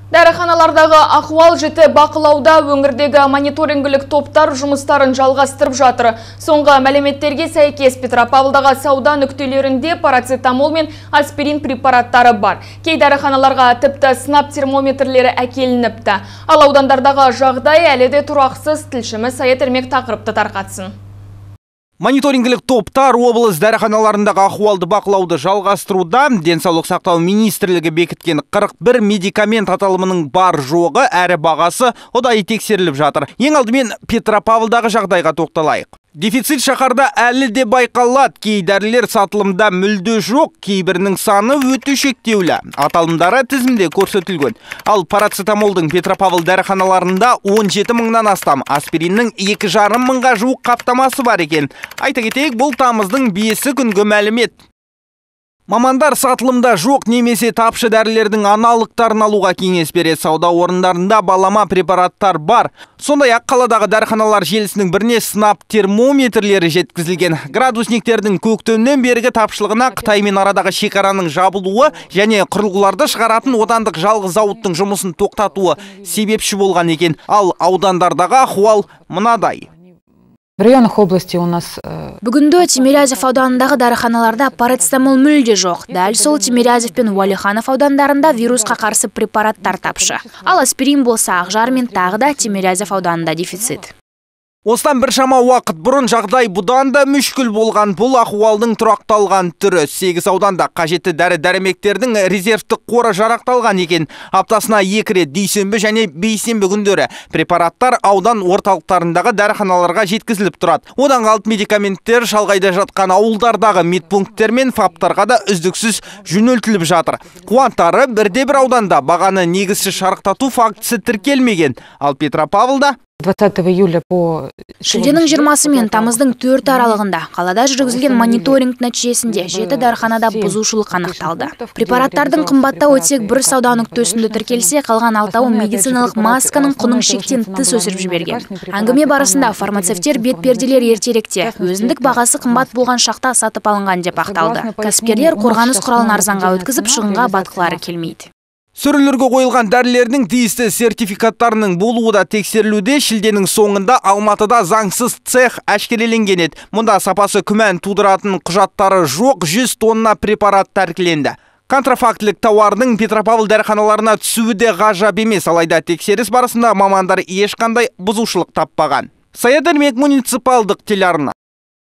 Дәріханалардағы ахуал жіті бақылауда өңірдегі мониторингілік топтар жұмыстарын жалғастырып жатыр. Соңғы мәліметтерге сәйкес Петропавлдағы сауда нүктелерінде парацетамол мен аспирин препараттары бар. Кей дәріханаларға тіпті сынап термометрлері әкелініпті. Ал аудандардағы жағдай әлі де тұрақсыз. Тілшіміз Саят Ермек тақырыпты тарқатсын. Мониторингілік топтар облыс дәріханаларындағы ахуалды бақылауды жалғастыруда. Денсаулық сақтау министрлігі бекіткен 41 медикамент аталымының бар жоғы әрі бағасы ұдайы тексеріліп жатыр. Ең алдымен Петропавлдағы жағдайға тоқталайық. Дефицит шаһарда әлі де байқалады. Кей дәрілер сатылымда мүлде жоқ, кейбірінің саны өте шектеулі. Аталымдары тізімде көрсетілген. Ал парацетамолдың Петропавл дәріханаларында 17 мыңнан астам, аспириннің 2,5 мыңға жуық қаптамасы бар екен. Айта кетейік, бұл тамыздың 5 күнгі мәлімет. Мамандар сатылымда жоқ немесе тапшы дәрілердің аналықтарын алуға кеңес береді. Сауда орындарында балама препараттар бар. Сондай-ақ қаладағы дәріханалар желісінің біріне сынап термометрлері жеткізілген. Градусниктердің көктемнен бергі тапшылығына Қытаймен арадағы шекараның жабылуы және құрылғыларды шығаратын отандық жалғыз зауыттың жұмысын тоқтатуы себепші болған екен. Ал аудандардағы ахуал мынадай. В районах области у нас... Бүгінгі Тимирязев ауданындағы дәріханаларда парацетамол мүлде жоқ. Дәл сол Тимирязев пен Уәлиханов аудандарында вирусқа қарсы препараттар тапшы. Ал аспирин болса Ақжар мен тағы да Тимирязев ауданында дефицит. Осыдан біршама уақыт бұрын жағдай бұдан да мүшкіл болған. Бұл ахуалдың тұрақталған түрі. 8 ауданда қажетті дәрі-дәрмектердің резервтік қоры жарақталған екен. Аптасына 2 рет дүйсенбі және бейсенбі күндері препараттар аудан орталықтарындағы дәріханаларға жеткізіліп тұрады. Одан қалып медикаменттер шалғайда жатқан ауылдардағы медпункттер мен фаптарға да үздіксіз жөнелтіліп жатыр. Қуантары бірде-бір ауданда бағаны негізсіз шарықтату фактісі тіркелмеген. Ал Петропавлда 20 июля по... Шілденің 20 мен тамыздың 4 аралығында қалада жүргізілген мониторинг нәтижесінде 7 дәріханада бұзушылық анықталды. Препараттардың қымбаттау өтсек бір сауда нүктесінде тіркелсе, қалған 6-ы медициналық масканың құнын шектен тыс өсіріп жіберген. Әңгіме барысында фармацевттер бетперделер ертеректе өзіндік бағасы қымбат болған шақта сатып алынған деп ақталды. Кәсіпкерлер қорғаныс құралын арзанға өткізіп, шығынға батқылары келмейді. Сөрелерге қойылған дәрілердің тиісті сертификаттарының болуы да тексерілуде. Шілденің соңында Алматыда заңсыз цех әшкереленген еді. Мұнда сапасы күмән тудыратын құжаттары жоқ 100 тонна препарат тәркіленді. Контрафактілік тауардың Петропавл дәріханаларына түсуі де ғажап емес, алайда тексеріс барысында мамандар ешқандай бұзушылық таппаған. Саят Ермек, муниципалдық телеарна.